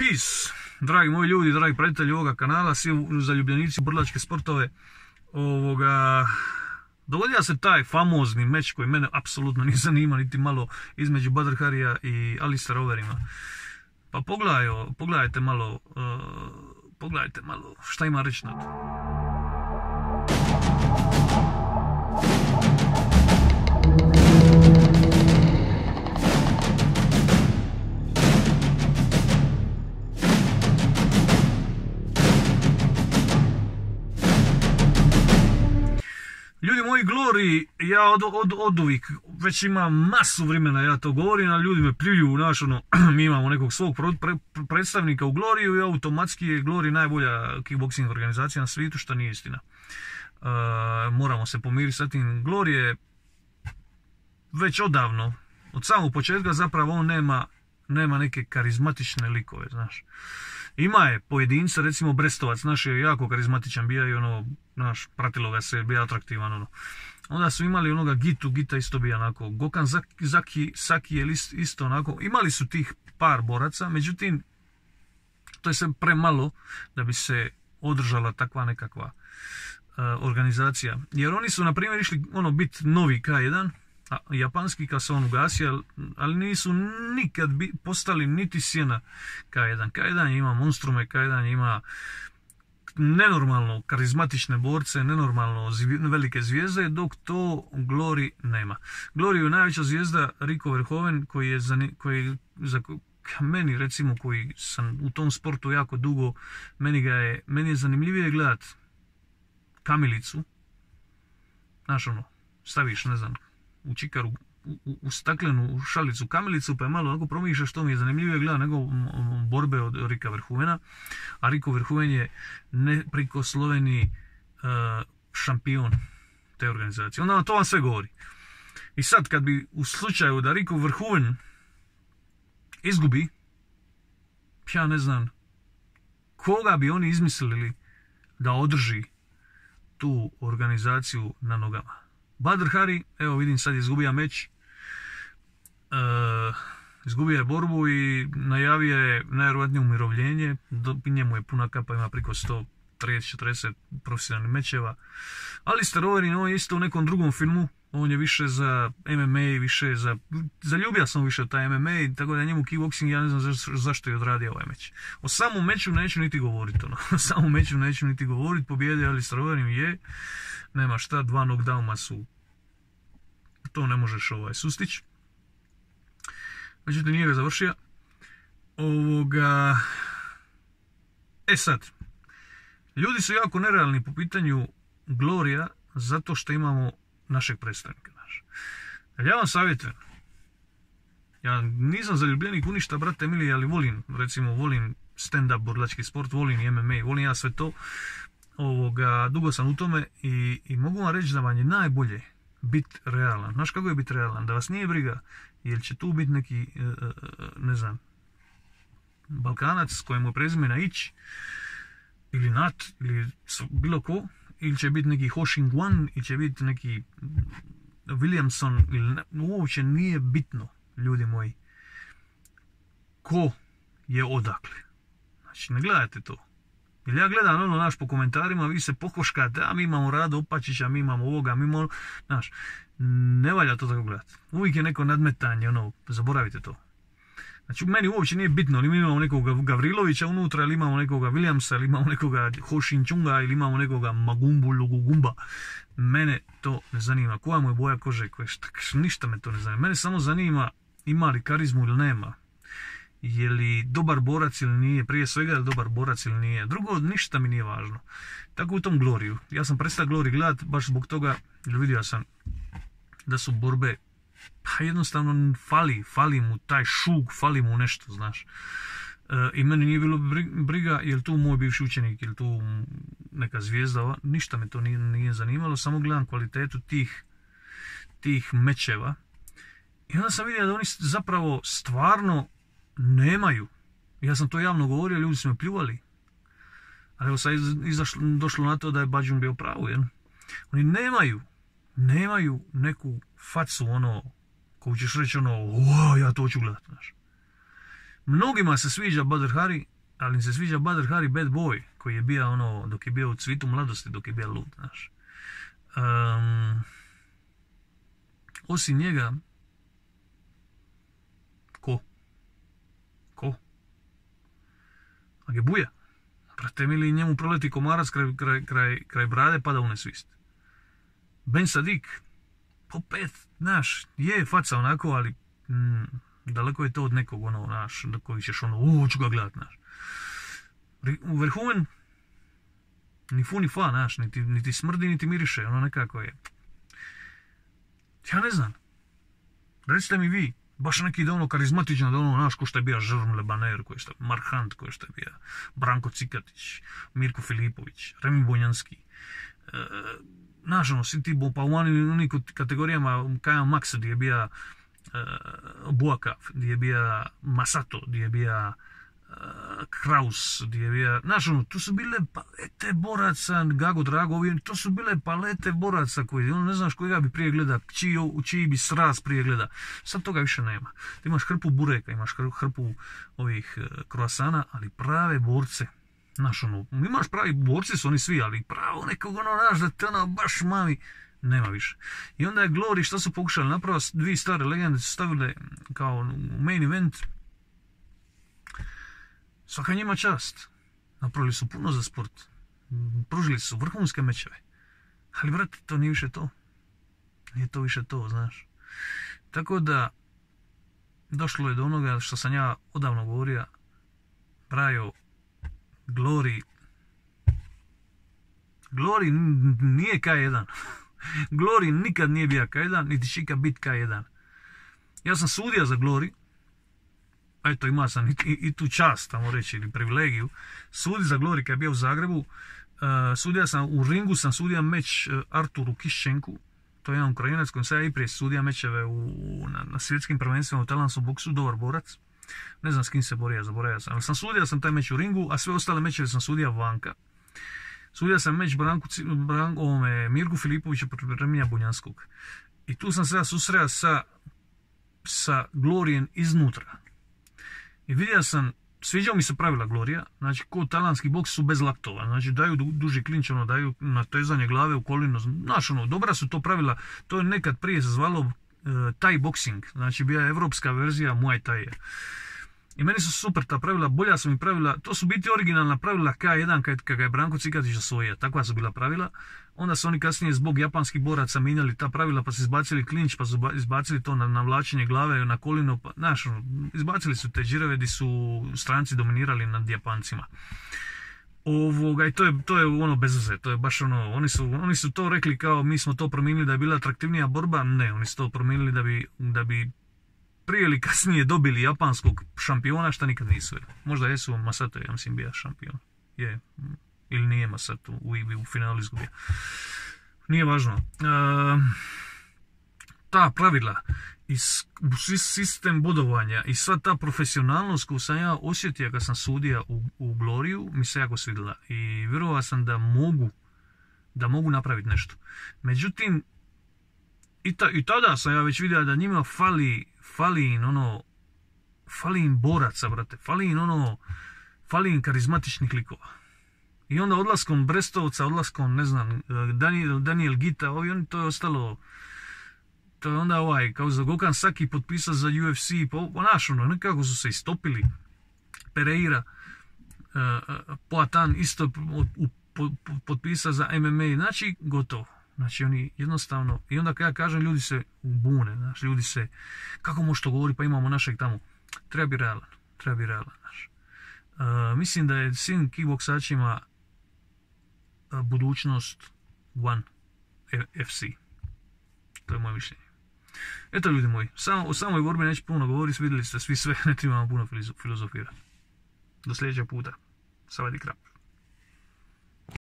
Peace, dragi moji ljudi, dragi pratitelji ovoga kanala, svi zaljubljenici u brlačke sportove. Dogodio se taj famozni meč koji mene apsolutno nije zanima niti malo između Badr Harija i Alistaira Overeema. Pa pogledajte malo šta ima reći na to. Ljudi moji, Glory, ja od uvijek, već imam masu vremena, ja to govorim, a ljudi me pljuju, mi imamo nekog svog predstavnika u Gloriju i automatski je Glory najbolja kickboxing organizacija na svijetu, što nije istina. Moramo se pomiriti sa tim. Glory je već odavno, od samog početka zapravo on nema neke karizmatične likove, znaš. Ima je pojedinca, recimo Brestovac, naš je jako karizmatičan, bija i naš, pratilo ga se, bija atraktivan, Onda su imali onoga Gita isto bija onako, Gokan Saki je isto onako, imali su tih par boraca, međutim, to je sve premalo da bi se održala takva nekakva organizacija. Jer oni su, na primjer, išli biti novi K1, japanski kad se on ugasio, ali nisu nikad postali niti sjena K1. K1 ima monstrume, K1 ima nenormalno karizmatične borce, nenormalno velike zvijezde, dok to Glory nema. Glory je najveća zvijezda Rico Verhoeven, koji za meni, recimo, koji sam u tom sportu jako dugo, meni je zanimljivije gledat kamilicu, znaš staviš, ne znam, u čikaru, u staklenu šalicu kamilicu, pa je malo onako promišljaš, što mi je zanimljivije gleda nego borbe od Rika Verhoevena. A Rico Verhoeven je neprikosloveni šampion te organizacije. Onda to vam sve govori. I sad kad bi u slučaju da Rico Verhoeven izgubi, ja ne znam koga bi oni izmislili da održi tu organizaciju na nogama. Badr Hari, evo vidim, sad je izgubio meč, izgubio je borbu i najavio je najvjerojatnije umirovljenje. Njemu je puna kapa, ima preko 130-40 profesionalnih mečeva. Alistair Overeem, on je isto u nekom drugom filmu, on je više za MMA, više zaljubio sam više taj MMA, tako da njemu kickboxing, ja ne znam zašto je odradio ovaj meč. O samom meču neću niti govoriti, O samom meču neću niti govoriti, pobjedio Alistair Overeem je, nema šta, 2 knockdowna su, to ne možeš sustići. Međutim, nije ga završio. Sad, ljudi su jako nerealni po pitanju Glorija, zato što imamo našeg predstavnika. Ja vam savjetujem, ja nisam zaljubljenik u ništa, brate mili, ali volim stand-up borilački sport, volim i MMA, volim ja sve to. Dugo sam u tome i mogu vam reći da vam je najbolje biti realan. Znaš kako je biti realan? Da vas nije briga, jer će tu biti neki, ne znam, Balkanac kojemu je prezimena Ić, ili Nat, ili bilo ko, ili će biti neki Ho Shing Wan, ili će biti neki Williamson, uopće nije bitno, ljudi moji, ko je odakle. Znači, ne gledajte to. Jer ja gledam naš po komentarima, vi se pokoškate, a mi imamo Rado Opačića, mi imamo ovoga, mi imamo, znaš, ne valja to tako gledati. Uvijek je neko nadmetanje, zaboravite to. Znači, meni uopće nije bitno, ili mi imamo nekog Gavrilovića unutra, ili imamo nekoga Williamsa, ili imamo nekoga Ho Shin Chunga, ili imamo nekoga Magumbu Lugugumba. Mene to ne zanima. Koja mu je boja kože, ništa me to ne zanima. Mene samo zanima ima li karizmu ili nema. Je li dobar borac ili nije, prije svega je li dobar borac ili nije. Drugo, ništa mi nije važno. Tako u tom Gloriju. Ja sam prestao Glory gledat baš zbog toga, jer vidio sam da su borbe, pa jednostavno fali mu taj šug, fali mu nešto, znaš. I meni nije bilo briga, je li tu moj bivši učenik, je li tu neka zvijezda, ništa me to nije zanimalo, samo gledam kvalitetu tih mečeva. I onda sam vidio da oni zapravo stvarno nemaju. Ja sam to javno govorio, ljudi su me pljuvali. Ali evo sad došlo na to da je Bađun bio pravo, jel? Oni nemaju neku facu, ko ćeš reći, ja to hoću gledat, znaš. Mnogima se sviđa Badr Hari, ali im se sviđa Badr Hari Bad Boy, koji je bio ono, dok je bio u cvitu mladosti, dok je bio lud, znaš. Osim njega, ko? Agebuja. Brate mili, njemu proleti komarac kraj brade, pada u nesvist. Ben Sadik, po 5, znaš, je faca onako, ali daleko je to od nekog, ono, znaš, do koji ćeš ono, ću ga gledat, znaš. U Verhoeven, ni fu ni fa, znaš, niti smrdi, niti miriše, ono nekako je. Ja ne znam. Recite mi vi, baš neki da ono karizmatičan, da ono, znaš, ko što je bio Žrm Lebaner, ko što je Mark Hunt, ko što je bio Branko Cikatić, Mirko Filipović, Remi Bonjanski. Znaš, ono, svi ti pa u onim kategorijama Kaja Max, gdje je bio Buakav, gdje je bio Masato, gdje je bio Kraus, gdje je bio, znaš, ono, tu su bile palete boraca, Gago Dragovi, to su bile palete boraca koji, ono, ne znaš kojega bi prije gleda, čiji bi sraz prije gleda. Sad toga više nema. Ti imaš hrpu bureka, imaš hrpu ovih kroasana, ali prave borce. Znaš, ono, imaš pravi borci, su oni svi, ali pravo nekog, ono, znaš, da te ono baš mami, nema više. I onda je Glory, što su pokušali napraviti, dvije stare legende su stavile kao main event. Svaka njima čast. Napravili su puno za sport. Pružili su vrhunske mečeve. Ali, brate, to nije više to. Nije to više to, znaš. Tako da, došlo je do onoga što sam ja odavno govorio. Brajo, Glory nije K1. Glory nikad nije bio K1, niti će ikad biti K1. Ja sam sudio za Glory. Eto, imao sam i tu čast, tamo reći, ili privilegiju. Sudi za Glory kad je bio u Zagrebu. Sudio sam u ringu, sam sudio meč Arturu Kiščenku. To je jedan Ukrajinac kojim sam ja i prije sudio mečeve na svjetskim prvenstvima u talijanskom boksu, dobar borac. Ne znam s kim se borio, zaboravio sam. Ali sam sudio sam taj meč u ringu, a sve ostale mečeve sam sudio vanka. Sudio sam meč Mirku Filipovića protiv Remija Bonjanskog. I tu sam se ja susreo sa Gloryjem iznutra. I vidio sam, sviđao mi se pravila Glorija, znači kod talijanski boks su bez laktova, znači daju duži klinč, ono, daju natezanje glave u kolino, znaš, ono, dobra su to pravila, to je nekad prije se zvalo Thai boxing, znači bila je evropska verzija Muay Thai. I meni su super ta pravila, bolja su mi pravila, to su biti originalna pravila K1 kad ga je Branko Cikatić osvojio, takva su bila pravila. Onda su oni kasnije zbog japanskih boraca mijenjali ta pravila, pa su izbacili klinč, pa su izbacili to na vlačenje glave, na kolino, pa, znaš, izbacili su te džireve gdje su stranci dominirali nad Japancima. I to je ono bez veze, to je baš ono, oni su to rekli kao mi smo to promijenili da je bila atraktivnija borba, ne, oni su to promijenili da bi prije ili kasnije dobili japanskog šampiona, šta nikad nisu. Možda jesu, Masato je, ja mislim, bio šampion. Je, ili nije Masato, u finalu izgubio. Nije važno. Ta pravila i sistem bodovanja i sva ta profesionalnost koju sam ja osjetio kad sam sudio u Gloriju mi se jako svidjela. I vjerovao sam da mogu napraviti nešto. Međutim, i tada sam ja već vidio da njima fali im boraca, brate, fali im karizmatičnih likova. I onda odlaskom Brestovca, odlaskom, ne znam, Daniel Gita, to je ostalo, to je onda kao za Gokan Saki potpisao za UFC, nekako su se istopili. Pereira, Poatan isto potpisao za MMA, znači gotovo. Znači oni jednostavno, i onda kad ja kažem ljudi se ubune, znači ljudi se, kako može to govori, pa imamo našeg tamo, treba biti realan, znači. Mislim da je svim kickboksačima budućnost One FC. To je moje mišljenje. Eto ljudi moji, o samoj borbi neću puno govoriti, vidjeli ste svi sve, ne trebamo puno filozofirati. Do sljedećeg puta. Savadi krap.